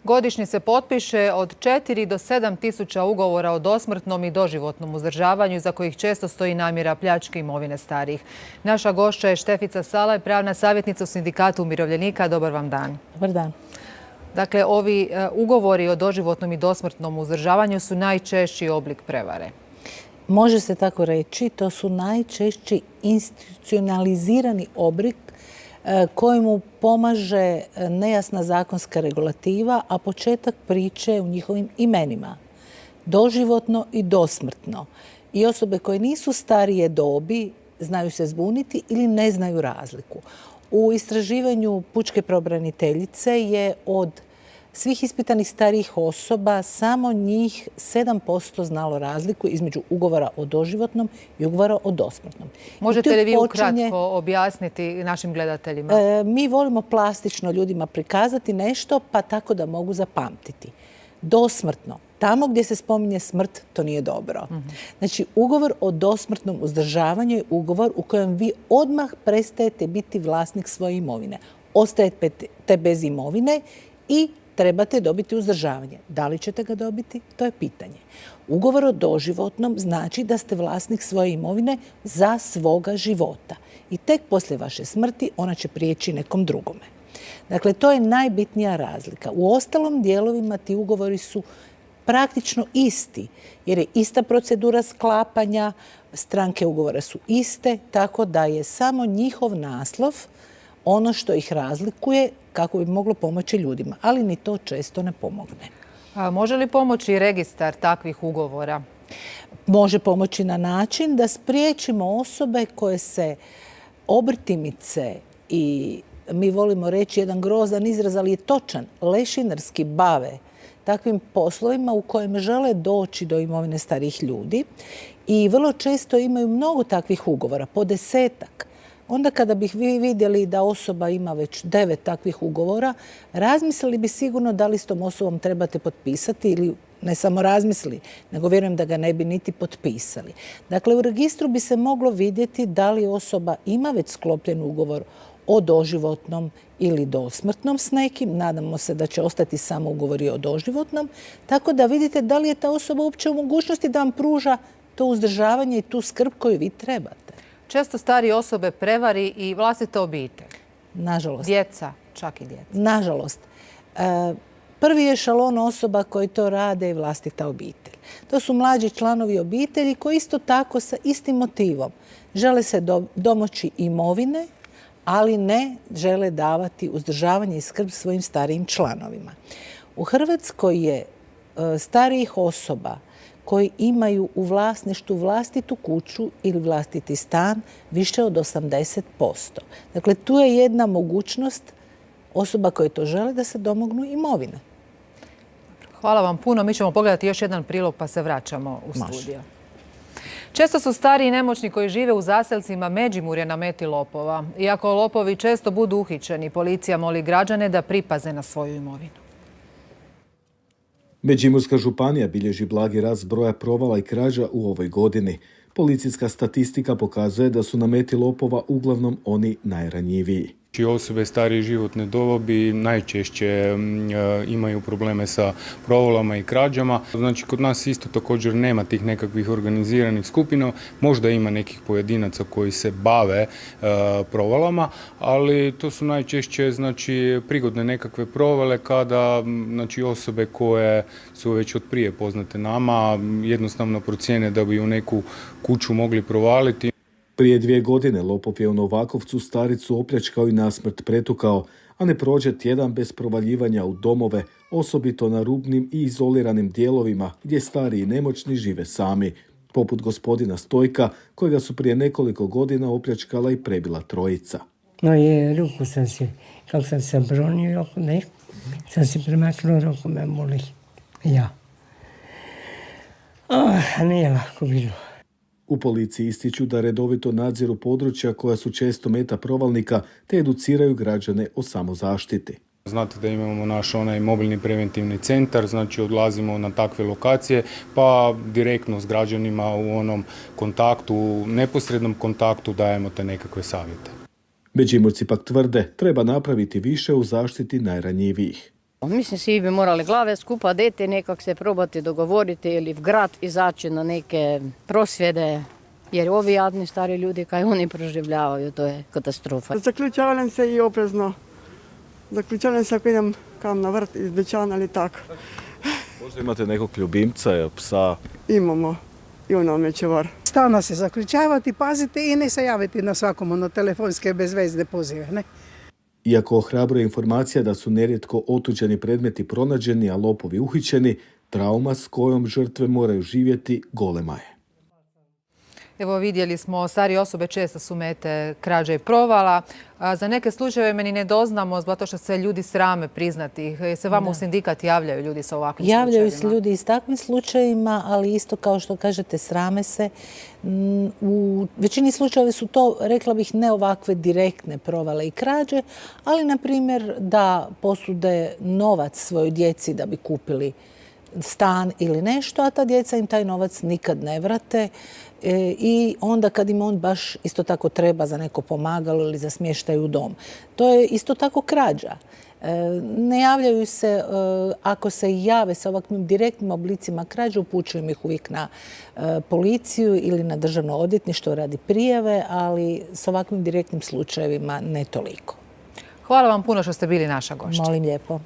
Godišnje se potpiše od 4 do 7 tisuća ugovora o dosmrtnom i doživotnom uzdržavanju, za kojih često stoji namjera pljačke imovine starijih. Naša gošća je Štefica Salaj, pravna savjetnica u Sindikatu umirovljenika. Dobar vam dan. Dobar dan. Dakle, ovi ugovori o doživotnom i dosmrtnom uzdržavanju su najčešći oblik prevare. Može se tako reći, to su najčešći institucionalizirani oblik kojemu pomaže nejasna zakonska regulativa, a početak priče u njihovim imenima. Doživotno i dosmrtno. I osobe koje nisu starije dobi znaju se zbuniti ili ne znaju razliku. U istraživanju pučke pravobraniteljice je od svih ispitanih starijih osoba samo njih 7% znalo razliku između ugovora o doživotnom i ugovora o dosmrtnom. Možete li vi ukratko objasniti našim gledateljima? Mi volimo plastično ljudima prikazati nešto pa tako da mogu zapamtiti. Dosmrtno. Tamo gdje se spominje smrt, to nije dobro. Znači, ugovor o dosmrtnom uzdržavanju je ugovor u kojem vi odmah prestajete biti vlasnik svoje imovine. Ostajete bez imovine i trebate dobiti uzdržavanje. Da li ćete ga dobiti? To je pitanje. Ugovor o doživotnom znači da ste vlasnik svoje imovine za svoga života. I tek poslije vaše smrti ona će prijeći nekom drugome. Dakle, to je najbitnija razlika. U ostalom dijelovima ti ugovori su praktično isti, jer je ista procedura sklapanja, stranke ugovora su iste, tako da je samo njihov naslov ono što ih razlikuje kako bi moglo pomoći ljudima, ali ni to često ne pomogne. A može li pomoći registar takvih ugovora? Može pomoći na način da spriječimo osobe koje se obrtimice i mi volimo reći jedan grozan izraz, ali je točan, lešinarski bave takvim poslovima u kojem žele doći do imovine starijih ljudi i vrlo često imaju mnogo takvih ugovora, po 10-ak. Onda kada bih vi vidjeli da osoba ima već 9 takvih ugovora, razmislili bi sigurno da li s tom osobom trebate potpisati ili ne samo razmislili, nego vjerujem da ga ne bi niti potpisali. Dakle, u registru bi se moglo vidjeti da li osoba ima već sklopljen ugovor o doživotnom ili dosmrtnom s nekim. Nadamo se da će ostati samo ugovori o doživotnom. Tako da vidite da li je ta osoba uopće u mogućnosti da vam pruža to uzdržavanje i tu skrb koju vi trebate. Često starije osobe prevari i vlastita obitelj. Nažalost. Djeca, čak i djeca. Nažalost. Prvi je šalon osoba koji to rade i vlastita obitelj. To su mlađi članovi obitelji koji isto tako sa istim motivom žele se domoći imovine, ali ne žele davati uzdržavanje i skrb svojim starijim članovima. U Hrvatskoj je starijih osoba koji imaju u vlasništvu vlastitu kuću ili vlastiti stan više od 80%. Dakle, tu je jedna mogućnost osoba koje to žele da se domognu imovine. Hvala vam puno. Mi ćemo pogledati još jedan prilog pa se vraćamo u studio. Može. Često su stariji i nemoćni koji žive u zaselcima Međimurja na meti lopova. Iako lopovi često budu uhićeni, policija moli građane da pripaze na svoju imovinu. Međimurska županija bilježi blagi rast broja provala i krađa u ovoj godini. Policijska statistika pokazuje da su na meti lopova uglavnom oni najranjiviji. Osobe starije životne dobi najčešće imaju probleme sa provalama i krađama. Znači, kod nas isto također nema tih nekakvih organiziranih skupina. Možda ima nekih pojedinaca koji se bave provalama, ali to su najčešće prigodne nekakve provale kada osobe koje su već od prije poznate nama jednostavno procijene da bi u neku kuću mogli provaliti. Prije 2 godine lopov je u Novakovcu staricu opljačkao i nasmrt pretukao, a ne prođe tjedan bez provaljivanja u domove, osobito na rubnim i izoliranim dijelovima gdje stariji i nemoćni žive sami, poput gospodina Stojka, kojega su prije nekoliko godina opljačkala i prebila trojica. No je, ruku sam si, kako sam se bronio, sam si premaknuo, ruku me boli. Ja. Nije lako bilo. U policiji ističu da redovito nadziru područja koja su često meta provalnika te educiraju građane o samozaštiti. Znate da imamo naš mobilni preventivni centar, znači odlazimo na takve lokacije pa direktno s građanima u onom kontaktu, neposrednom kontaktu dajemo te nekakve savjete. Međimurci pak tvrde treba napraviti više u zaštiti najranjivijih. Mislim, svi bi morali glave skupa deti, nekak se probati dogovoriti ili v grad izaći na neke prosvjede, jer ovi jadni stari ljudi, kaj oni proživljavaju, to je katastrofa. Zaključavam se i oprezno. Zaključavam se ako idem kam na vrt iz dućana ili tako. Možda imate nekog ljubimca, psa? Imamo i on nam je čuvar. Stalno se zaključavati, pazite i ne se javiti na svakom na telefonske bezvezne pozive. Ne? Iako ohrabruje informacija da su nerijetko otuđeni predmeti pronađeni, a lopovi uhićeni, trauma s kojom žrtve moraju živjeti golema je. Evo vidjeli smo, starije osobe često su mete krađa i provala. Za neke slučajeve meni ne doznamo zato što se ljudi srame priznati ih. Se vama u sindikat javljaju ljudi sa ovakvim slučajevima? Javljaju se ljudi i s takvim slučajevima, ali isto kao što kažete, srame se. U većini slučajeva su to, rekla bih, ne ovakve direktne provale i krađe, ali na primjer da posude novac svojoj djeci da bi kupili stan ili nešto, a ta djeca im taj novac nikad ne vrate i onda kad im on baš isto tako treba za neko pomagalo ili za smještaj u dom. To je isto tako krađa. Ne javljaju se, ako se jave sa ovakvim direktnim oblicima krađe, upućujem ih uvijek na policiju ili na državno odvjetništvo radi prijave, ali s ovakvim direktnim slučajevima ne toliko. Hvala vam puno što ste bili naša gošća. Molim lijepo.